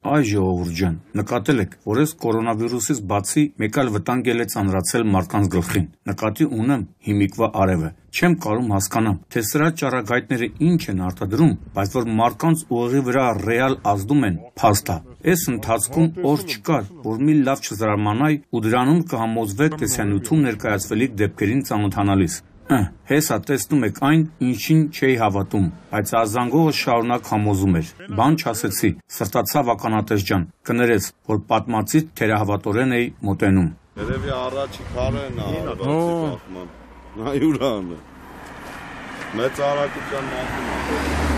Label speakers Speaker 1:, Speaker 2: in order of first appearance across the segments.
Speaker 1: Այ ժողովուրդ ջան, նկատել եք, որ այս կորոնավիրուսից բացի մեկ այլ վտանգ էլ է ծանրացել մարդկանց գլխին։ Նկատի ունեմ հիմիկվա արևը։ Չեմ կարում հասկանամ, թե սրա ճառագայթները ինչ են արտադրում, բայց որ մարդկանց ուղեղի վրա ռեալ ազդում են, փաստ է։ Այս ընթացքում օր չկար, որ մի լավ չզարմանայի ու դրանում կհամոզվեք տեսանյութում ներկայացվելիք դեպքերին ծանոթանալիս։ Հեսա տեսնում եք այն, ինչին չէի հավատում, բայց ազանգողը շարունակ համոզում էր։ Բան չասեցի, սրտացավ ականատես ջան, կներես, որ պատմածից թերահավատորեն էի մոտենում։
Speaker 2: Երևի առաջի քարեն է, բախման։ Նայուրան է։ Մեծ արագության մասին է։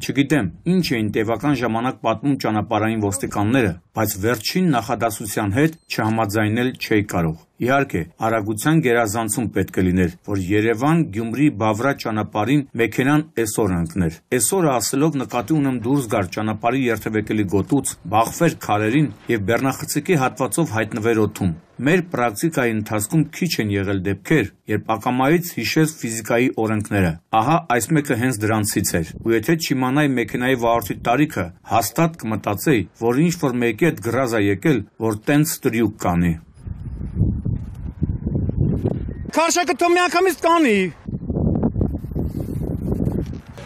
Speaker 1: Չգիտեմ, ինչ էին տևական ժամանակ պատմում ճանապարհային ոստիկանները, բայց վերջին նախադասության հետ չհամաձայնել չէի կարող։ Իհարկե, արագության գերազանցում պետք է լիներ, որ Երևան-Գյումրի-Բավրա ճանապարհին մեքենան այսօր ընկներ։ Այսօրը ասելով նկատի ունեմ դուրս գար ճանապարհի երթևեկելի գոտուց, բախվեր քարերին եւ բեռնախցիկի հատվածով հայտնվեր օդում։ Մեր պրակտիկայի ընթացքում քիչ են եղել դեպքեր, երբ ակամայից հիշեց ֆիզիկայի օրենքները։ Ահա այս մեկը հենց դրանցից էր։ Ու եթե չիմանայի մեքենայի վարորդի տարիքը, հաստատ կմտածեի, որ ինչ որ մեկի հետ գրազ է եկել, որ տենց տրյուկ կանի։
Speaker 3: Քարշակը թող մի անգամից կանի։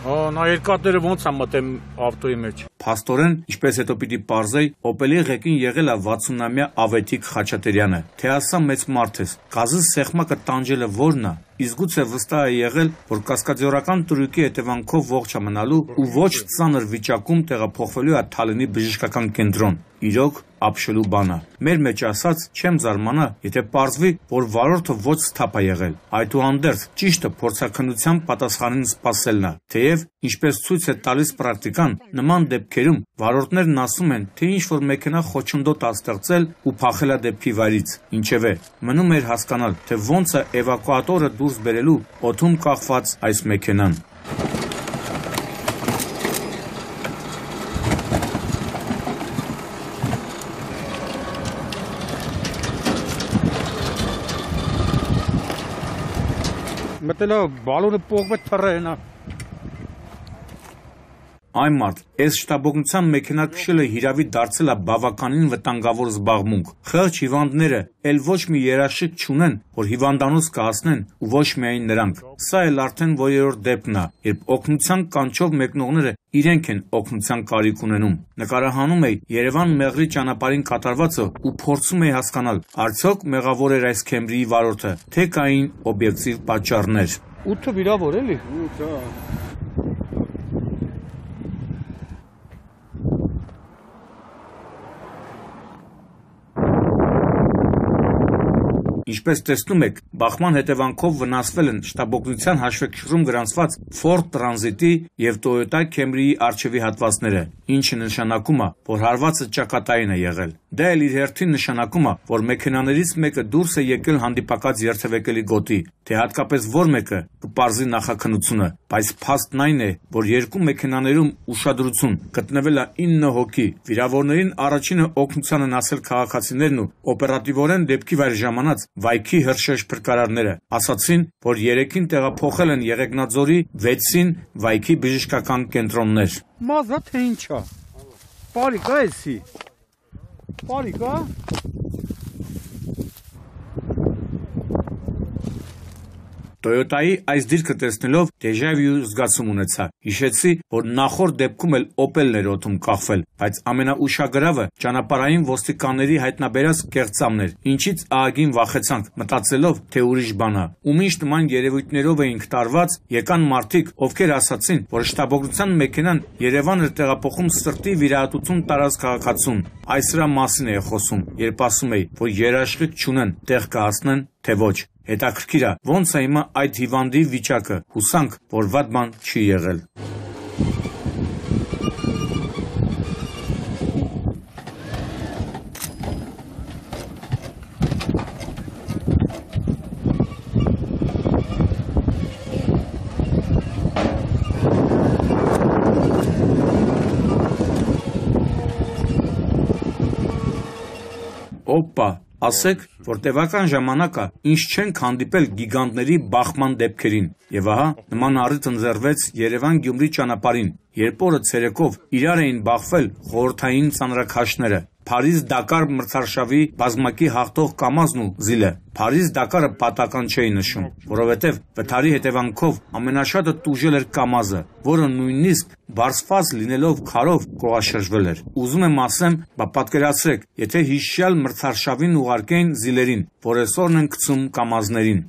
Speaker 3: Նա երկաթները ոնց է մտեմ ավտոյի մեջ։
Speaker 1: Փաստորեն, ինչպես հետո պիտի պարզեի, Opel-ի ղեկին եղել է 60-ամյա Ավետիք Խաչատրյանը։ Թե ասա մեծ մարդ ես, գազի սեղմակը տանջելը ո՞րն է։ Իսկ գուցե վստահ է եղել, որ կասկադիորական տրյուկի հետևանքով ողջ է մնալու ու ոչ ծանր վիճակում տեղափոխվելու է Թալինի բժշկական կենտրոն։ Իրոք ապշելու բան է։ Մեր մեջ ասած չեմ զարմանա, եթե պարզվի, որ վարորդը ոչ սթափ է եղել։ Այդուհանդերձ ճիշտը փորձաքննության պատասխանին սպասելն է։ Թեև, ինչպես ցույց է տալիս պրակտիկան, նման դեպքերում վարորդներն ասում են, թե ինչ որ մեքենա խոչընդոտ է ստեղծել ու փախել է դեպքի վայրից։ Ինչևէ, մնում էր հասկանալ, թե ոնց է էվակուատորը դուրս բերելու օդում կախված այս մեքենան։
Speaker 3: Մտելա բալոնը պողվեց թռենա։
Speaker 1: Այն մարդ, այս շտաբօգնության մեքենա քշելը հիրավի դարձել է բավականին վտանգավոր զբաղմունք։ Խեղճ հիվանդները էլ ոչ մի երաշխիք չունեն, որ հիվանդանոց կհասնեն ու ոչ միայն նրանք։ Սա էլ արդեն որերորդ դեպքն է, երբ օգնության կանչով մեկնողները իրենք են օգնության կարիք ունենում։ Նկարահանում էի Երևան-Մեղրի ճանապարհին կատարվածը ու փորձում էի հասկանալ, արդյոք մեղավոր էր այս Քեմրիի վարորդը, թե կային օբյեկտիվ պատճառներ։
Speaker 3: 8-ը վիրավոր էլի։
Speaker 2: 8-ը
Speaker 1: Ինչպես տեսնում եք, բախման հետևանքով վնասվել են շտաբօգնության հաշվեկշռում գրանցված Ford Transit-ի և Toyota Camry-ի առջևի հատվածները, ինչը նշանակում է, որ հարվածը ճակատային է եղել։ Դա էլ իր հերթին նշանակում է, որ մեքենաներից մեկը դուրս է եկել հանդիպակաց երթևեկելի գոտի, թե հատկապես որ մեկը կպարզի նախաքննությունը, բայց փաստն այն է, որ երկու մեքենաներում ուշադրություն գտնվել է 9 հոգի։ Վիրավորներին առաջինը օգնության են ասել քաղաքացիներն ու օպերատիվորեն դեպքի վայր ժամանած Վայքի հրշեջ փրկարարները ասացին, որ 3-ին տեղափոխել են Եղեգնաձորի, 6-ին Վայքի բժշկական կենտրոններ։
Speaker 3: Մազա թե ինչա։ Պարիկա էսի։ Պարիկա։
Speaker 1: Toyota-ի այս դիրքը տեսնելով դեժավյու զգացում ունեցա։ Հիշեցի, որ նախորդ դեպքում էլ Opel-ն էր օդում կախվել, բայց ամենաուշագրավը ճանապարհային ոստիկանների հայտնաբերած կեղծամն էր, ինչից ահագին վախեցանք, մտածելով, թե ուրիշ բան է։ Ու միշտ նման երևույթներով էինք տարված, եկան մարդիկ, ովքեր ասացին, որ շտաբօգնության մեքենան Երևան էր տեղափոխում սրտի վիրահատություն տարած քաղաքացուն։ Այս սրա մասին է խոսում, երբ ասում էի, որ երաշխիք չունեն, տեղ կհասնեն, թե ոչ։ Հետաքրքիր է, ոնց է հիմա այդ հիվանդի վիճակը, հուսանք, որ վատ բան չի եղել։ Օպա, Ասեք, որ տևական ժամանակը ինչ չենք հանդիպել գիգանտների բախման դեպքերին։ Եվ ահա նման առիթ ընձեռվեց Երևան-Գյումրի ճանապարհին, երբ օրը ցերեկով իրար էին բախվել խորհրդային ծանրաքաշները։ Փարիզ-Դակար մրցարշավի բազմակի հաղթող Կամազն ու Զիլը Փարիզ-Դակարը պատական չէի նշում, որովհետև վթարի հետևանքով ամենաշատը տուժել էր Կամազը, որը նույնիսկ բարձված լինելով քարով կողաշրջվել էր։ Ուզում եմ ասեմ, պատկերացրեք, եթե հիշյալ մրցարշավին ուղարկեին Զիլերին, որ այսօրն են գցում Կամազներին։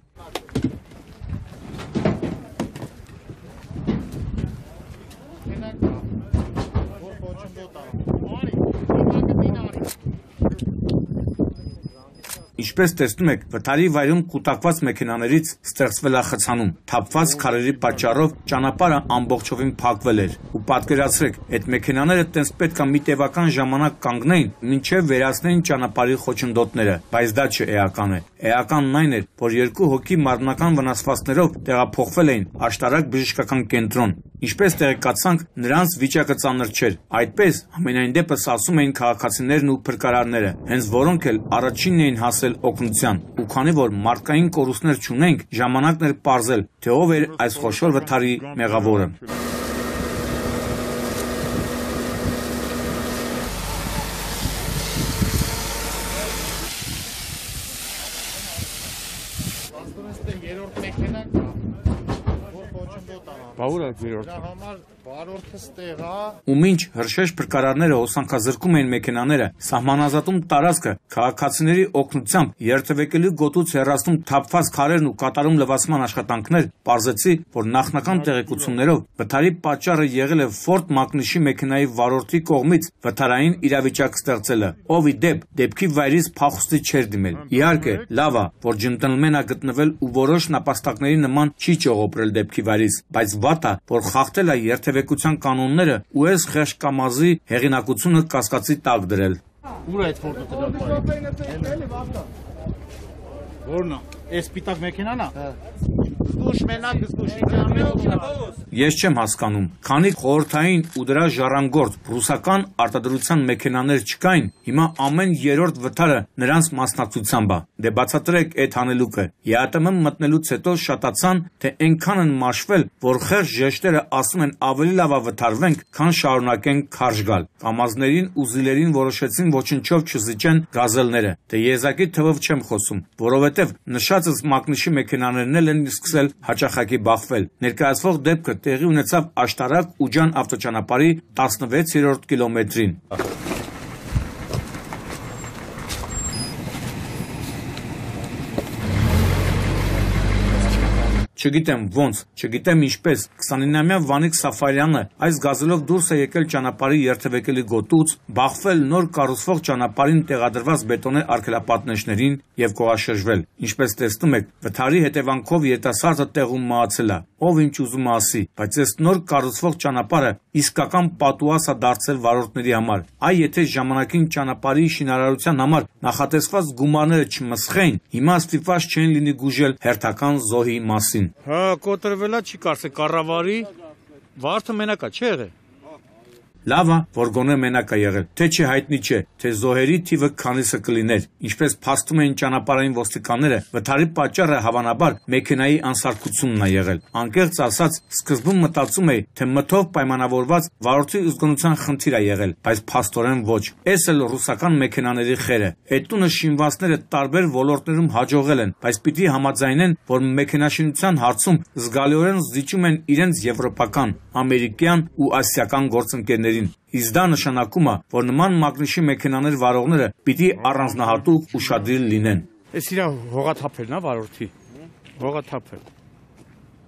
Speaker 1: Ինչպես տեսնում եք, վթարի վայրում կուտակված մեքենաներից ստեղծվել է խցանում, թափված քարերի պատճառով ճանապարհը ամբողջովին փակվել էր։ Ու պատկերացրեք, այդ մեքենաները տենց պետք է մի տևական ժամանակ կանգնեին, մինչև վերացնեին ճանապարհի խոչընդոտները, բայց դա չէ էականն է։ Էականն այն էր, որ երկու հոգի մարմնական վնասվածքներով տեղափոխվել էին աշտարակ բժշկական կենտրոն։ Ինչպես տեղեկացանք, նրանց վիճակը ծանր չէր։ Այդպես, համենայն դեպս ասում էին քաղաքացիներն ու փրկարարները, հենց որոնք էլ առաջինն էին հասել օգնության։ Ու քանի որ մարդկային կորուստներ չունենք, ժամանակն էր պարզել, թե ով էր այս խոշոր վթարի մեղավորը։
Speaker 3: Բավուր է երրորդ։
Speaker 1: Ու մինչ հրշեջ փրկարարները հոսանքազրկում էին մեքենաները, սահմանազատում տարածքը, քաղաքացիների օգնությամբ երթևեկելու գոտուց հեռացնում թափված քարերն ու կատարում լվացման աշխատանքներ, պարզեցի, որ նախնական տեղեկություններով վթարի պատճառը եղել է Ford Mach-ի մեքենայի վարորդի կողմից վթարային իրավիճակ ստեղծելը, ով ի դեպ դեպքի վայրից փախուստի չէր դիմել։ Իհարկե, լավ է, որ ջենտլմեն է գտնվել ու որոշ նապաստակների նման չի ճողոպրել դեպքի վայրից, բայց վատ է, որ խախտել է երթևեկության կանոնները ու այս խեղճ Կամազի հեղինակությունը կասկածի տակ դրել։
Speaker 3: Ուր է այդ Ֆորդը դրել։ Որն է։ Այս պիտակ մեքենան է։
Speaker 1: Ես չեմ հասկանում, քանի խորհրդային ու դրա ժառանգորդ ռուսական արտադրության մեքենաներ չկային, հիմա ամեն երրորդ վթարը նրանց մասնակցությամբ է։ Դե բացատրեք այդ հանելուկը։ ԵԱՏՄ մտնելուց հետո շատացան, թե այնքան են մաշվել, որ խեղճ ժեշտերը ասում են ավելի լավ է վթարվենք, քան շարունակենք քարշ գալ։ Կամազներին ու Զիլերին որոշեցին ոչնչով չզիջեն գազելները։ Դե եզակի թվով չեմ խոսում, որովհետև նշածս Մագնիշի մեքենաներն են սկսել հաճախակի բախվել։ Ներկայացվող դեպքը տեղի ունեցավ Աշտարակ Ուջան ավտոճանապարհի 16-րդ կիլոմետրին։ Չգիտեմ ոնց, չգիտեմ ինչպես, 29-ամյա Վանիկ Սաֆարյանը այս գազելով դուրս է եկել ճանապարհի երթևեկելի գոտուց, բախվել նոր կառուցվող ճանապարհին տեղադրված բետոնե արգելապատնեշներին եւ կողաշրջվել։ Ինչպես տեսնում եք, վթարի հետևանքով երիտասարդը տեղում մահացել է, ով ինչ ուզում ասի, բայց այս նոր կառուցվող ճանապարհը իսկական պատուհաս է դարձել վարորդների համար։ Այ եթե ժամանակին ճանապարհի շինարարության համար նախատեսված գումարները չմսխեին, հիմա ստիպված չեն լինի գուժել հերթական զոհի մասին։
Speaker 3: Հա, կոտրվելա չի կարծեք կառավարի, վարդը մենակա չի եղել։
Speaker 1: Լավ է, որ գոնե մենակ է եղել, թե չէ հայտնի չէ, թե զոհերի թիվը քանիսը կլիներ։ Ինչպես փաստում էին ճանապարհային ոստիկանները, վթարի պատճառը հավանաբար մեքենայի անսարքությունն է եղել։ Անկեղծ ասած, սկզբում մտածում էի, թե մթով պայմանավորված վարորդի զգոնության խնդիր է եղել, բայց փաստորեն ոչ։ Էս էլ ռուսական մեքենաների խերը։ Այդ տունը շինվածները տարբեր ոլորտներում հաջողել են, բայց պիտի համաձայնեն, որ մեքենաշինության հարցում զգալիորեն զիջում են իրենց եվրոպական, ամերիկյան ու ասիական գործընկերներին։ Իսկ դա նշանակում է, որ նման Մագնիշի մեքենաներ վարողները պիտի առանձնահատուկ ուշադիր լինեն։
Speaker 3: Էս իրա հողաթափելն է վարորդի։ Հողաթափել։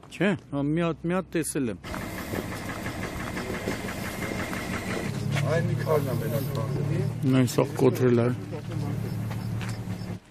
Speaker 3: Չէ, մի հատ տեսել եմ։
Speaker 2: Այն մի քարն է մենակ։
Speaker 3: Նույն սա կոտրել է։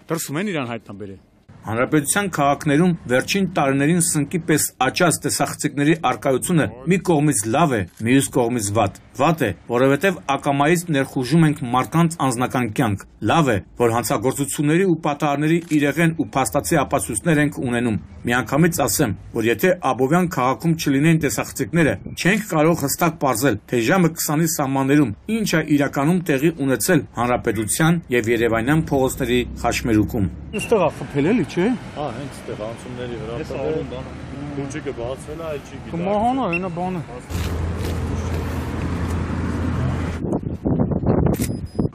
Speaker 3: Դրսում են իրան հայտնաբերել։
Speaker 1: Հանրապետության քաղաքներում վերջին տարիներին սնկի պես աճած տեսախցիկների արկայությունը մի կողմից լավ է, մյուս կողմից վատ։ Վատ է, որովհետև ակամայից ներխուժում ենք մարդկանց անձնական կյանք։ Լավ է, որ հանցագործությունների ու պատահարների իրեղեն ու փաստացի ապացույցներ ենք ունենում։ Միանգամից ասեմ, որ եթե Աբովյան քաղաքում չլինեն տեսախցիկները, չենք կարող հստակ պարզել, թե ժամը 20-ի սահմաններում ինչ է իրականում տեղի ունեցել հանրապետության եւ երևանյան փողոցների խաչմերուկում։
Speaker 3: Այստեղ է խփել էլի, չէ՞։
Speaker 4: Հա, հենց այդտեղ անցումների վրա տվել բան։ Քուջիկը բացվել է, այլ չի գիտա։
Speaker 3: Կմահանա, այնա բանը։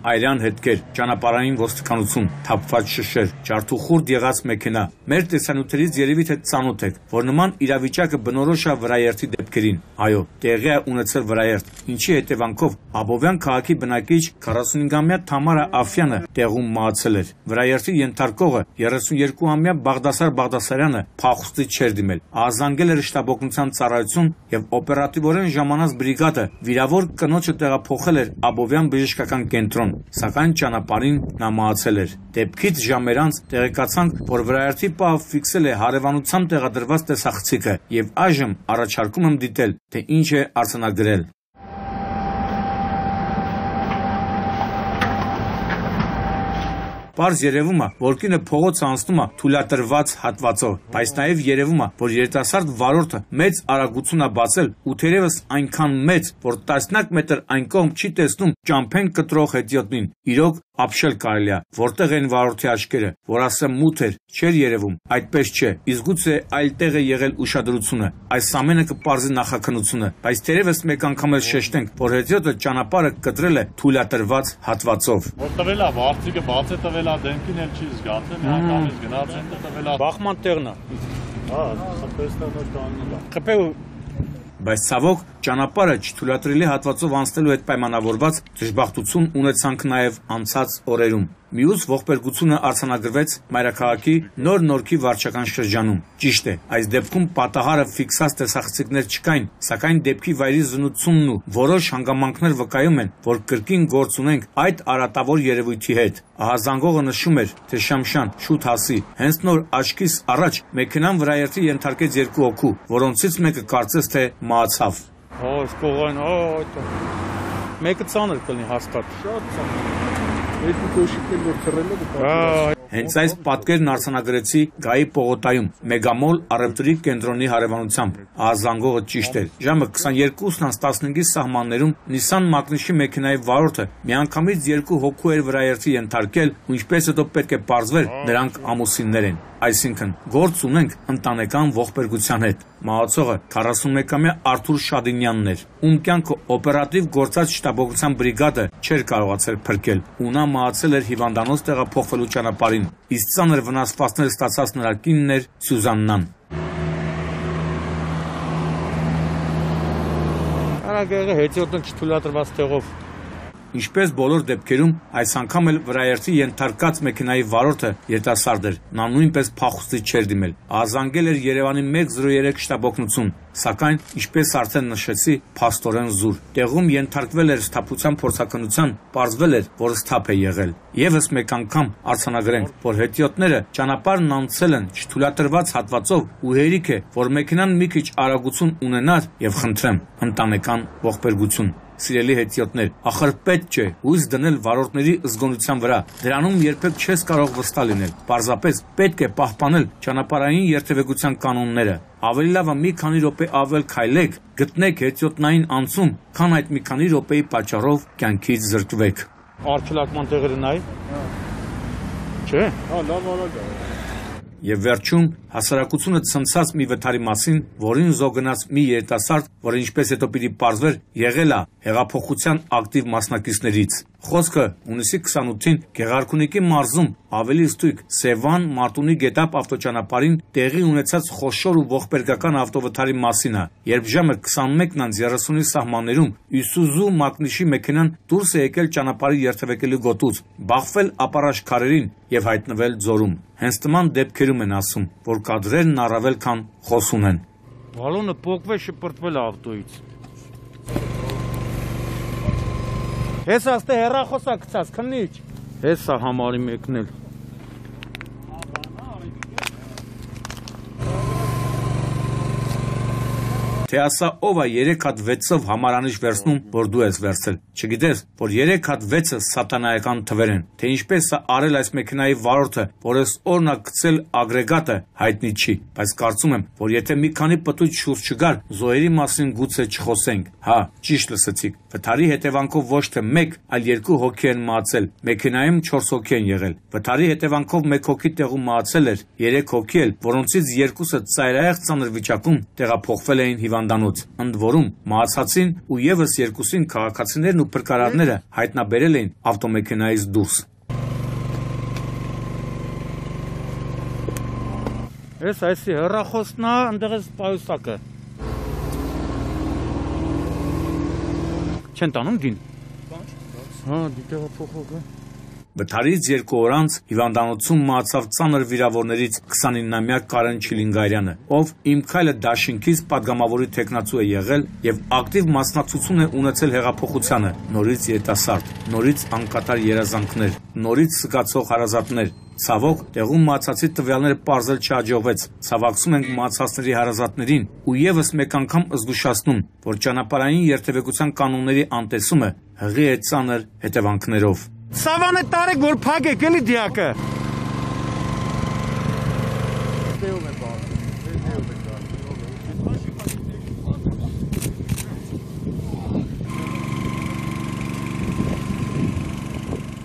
Speaker 1: Այրան հետքեր, ճանապարհային ոստիկանություն, թափված շշեր, ջարդուխուրդ եղած մեքենա։ Մեր տեսանյութերից երևի թե ծանոթ եք, որ նման իրավիճակը բնորոշ է վրաերթի դեպքերին։ Այո, տեղի է ունեցել վրաերթ, ինչի հետևանքով Աբովյան քաղաքի բնակիչ 45-ամյա Թամարա Աֆյանը տեղում մահացել էր։ Վրաերթի ենթարկողը 32-ամյա Բաղդասար Բաղդասարյանը փախուստի չէր դիմել։ Ահազանգել էր շտաբօգնության ծառայություն եւ օպերատիվորեն ժամանած բրիգադը վիրավոր կնոջը տեղափոխել էր Աբովյան բժշկական կենտրոն, սակայն ճանապարհին նա մահացել էր։ Դեպքից ժամեր անց տեղեկացանք, որ վրաերթի պահը ֆիքսել է հարևանությամբ տեղադրված տեսախցիկը եւ այժմ առաջարկում եմ դիտել, թե ինչ է արձանագրել։ Պարզ երևում է, որ կինը փողոցը անցնում է թույլատրված հատվածով, բայց նաև երևում է, որ երիտասարդ վարորդը մեծ արագություն է բացել ու թերևս այնքան մեծ, որ 10 մետր այն կողմ չի տեսնում ճամփեն կտրող հետիոտնին։ Իրոք ապշել կարելի է, որտեղ են վարորդի աչքերը, որ ասեմ մութ էր, չէր երևում, այդպես չէ, իսկ գուցե այլ տեղ է եղել ուշադրությունը, այս ամենը կպարզի նախաքննությունը, բայց թերևս մեկ անգամ էլ շեշտենք, որ հետիոտը ճանապարհը կտրել է թույլատրված հատվածով։
Speaker 4: Որ տվել է, վարձիկը բաց է տվել է, դեմքին էլ չի զգացել, միանգամից գնաց են տվել է։
Speaker 3: Բախման տեղն է։
Speaker 4: Հա, խփեստը նոր կանգնել է։
Speaker 3: Խփել
Speaker 1: Բայց ցավոք ճանապարհը չթույլատրելի հատվածով անցնելու հետ պայմանավորված դժբախտություն ունեցանք նաև անցած օրերում։ Մյուս ողբերգությունը արձանագրվեց Մայրաքաղաքի Նոր Նորքի վարչական շրջանում։ Ճիշտ է, այս դեպքում պատահարը ֆիքսած տեսախցիկներ չկային, սակայն դեպքի վայրի զննությունն ու որոշ հանգամանքներ վկայում են, որ կրկին գործ ունենք այդ արատավոր երևույթի հետ։ Ահազանգողը նշում էր, թե Շամշան, շուտ հասի, հենց նոր աչքիս առաջ մեքենան վրաերթի ենթարկեց 2 հոգու, որոնցից մեկը կարծես թե մահացավ։
Speaker 3: Այս կողային, մեկը ծանր կլինի հաստատ։
Speaker 2: Շատ ծանր։ Երկու կոշիկներ որ թռել է
Speaker 1: Հենց այս պատկերն արձանագրեցի Գայի պողոտայում Մեգամոլ առևտրի կենտրոնի հարևանությամբ։ Ահազանգողը ճիշտ էր։ Ժամը 22:15-ի սահմաններում Nissan Magnus-ի մեքենայի վարորդը միանգամից 2 հոգու էր վրաերթի ենթարկել, ու ինչպես հետո պետք է պարզվեր, նրանք ամուսիններ են։ Այսինքն գործ ունենք ընտանեկան ողբերգության հետ։ Մահացողը 41-ամյա Արթուր Շադինյանն էր, ում կյանքը օպերատիվ գործած շտաբօգնության բրիգադը չէր կարողացել փրկել, ու նա մահացել էր հիվանդանոց տեղափոխվելու ճանապարհին, իսկ ծանր վնասվածքներ ստացած նրա կինն էր Սյուզաննան։
Speaker 3: Արագը հետիոտնը չթույլատրված տեղով։
Speaker 1: Ինչպես բոլոր դեպքերում, այս անգամ էլ վրաերթի ենթարկած մեքենայի վարորդը երիտասարդ էր, նա նույնպես փախուստի չէր դիմել։ Ահազանգել էր Երևանի 103 շտաբօգնություն, սակայն, ինչպես արդեն նշեցի, փաստորեն զուր։ Տեղում ենթարկվել էր սթափության փորձաքննության, պարզվել էր, որ սթափ է եղել։ Եվս մեկ անգամ արձանագրենք, որ հետիոտները ճանապարհն անցել են չթույլատրված հատվածով ու հերիք է, որ մեքենան մի քիչ արագություն ունենար եւ խնդրեմ, ընտանեկան ողբերգություն։ Սիրելի հետիոտներ, ախր պետք չէ հույս դնել վարորդների զգոնության վրա։ Դրանում երբեք չես կարող վստահ լինել։ Պարզապես պետք է պահպանել ճանապարհային երթևեկության կանոնները։ Ավելի լավ է մի քանի րոպե ավել քայլեք, գտնեք հետիոտնային անցում, քան այդ մի քանի րոպեի պատճառով կյանքից զրկվեք։
Speaker 3: Արգելակման տեղերը նայ։ Չէ։
Speaker 2: Հա, լավ արագ է։
Speaker 1: Եվ վերջում հասարակությունը ցնցած մի վթարի մասին, որին զոհգնաց մի երիտասարդ, որը ինչպես հետո պիտի պարզվեր, եղել է հեղափոխության ակտիվ մասնակիցներից։ Խոսքը հունիսի 28-ին Գեղարքունիքի մարզում ավելի ստույգ Սևան Մարտունի գետապ ավտոճանապարհին տեղի ունեցած խոշոր ու ողբերգական ավտովթարի մասին է, երբ ժամը 21:30-ի սահմաններում Isuzu Magnus-ի մեքենան դուրս է եկել ճանապարհի երթևեկելու գոտուց, բախվել ապարաշ քարերին եւ հայտնվել ձորում։ Հենց նման դեպքերում են ասում, որ կադրերն առավել քան խոսուն են։
Speaker 3: Բալոնը փոկվել շպրտվել ավտոյից։ Հեսա ստե հեռախոսա գցած քնիչ։ Հեսա համարի մեկնել։
Speaker 1: թե ասա ով է 3 հատ 6-ով համարանիշ վերցնում, որ դու ես վերցել։ Չգիտես, որ 3 հատ 6-ը սատանայական թվեր են, թե ինչպես է արել այս մեքենայի վարորդը, որ այս օրն է գցել ագրեգատը, հայտնի չի, բայց կարծում եմ, որ եթե մի քանի պտույտ շուրջ չգար, զոհերի մասին գուցե չխոսենք։ Հա, ճիշտ լսեցիք։ Վթարի հետևանքով ոչ թե 1, այլ 2 հոգի են մահացել, մեքենայում 4 հոգի են եղել։ Վթարի հետևանքով 1 հոգի տեղում մահացել էր, 3 հոգի էլ, որոնցից 2-ը ծայրահեղ ծանր վիճակում տեղափոխվել էին հիվանդանոց։ Ընդ որում, մահացածին ու եւս 2-ին քաղաքացիներն ու փրկարարները հայտնաբերել էին ավտոմեքենայից դուրս։
Speaker 3: Այս հեռախոսն է, այնտեղ էս պայուսակը։ Չեն տանում դին։ Հա, դիտեղը փոխողը։
Speaker 1: Վթարից 2 օր անց հիվանդանոցում մահացավ ծանր վիրավորներից 29-ամյա Կարեն Չիլինգարյանը, ով Իմ քայլը դաշինքից падգամավորի տեխնացու է եղել եւ ակտիվ մասնակցություն է ունեցել հեղափոխությանը, նորից երիտասարդ, նորից անկատար երազանքներ, նորից զգացող հարազատներ։ Ցավոք, տեղում մահացածի տվյալները պարզել չհաջողվեց։ Ցավակցում ենք մահացածների հարազատներին ու եւս մեկ անգամ զգուշացնում, որ ճանապարհային երթևեկության կանոնների անտեսումը հղի է ծանր հետևանքներով։
Speaker 3: Սավանը տարեք, որ փակեք էլի դիակը։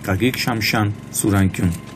Speaker 1: Գագիկ Շամշյան, Սուրանկյուն։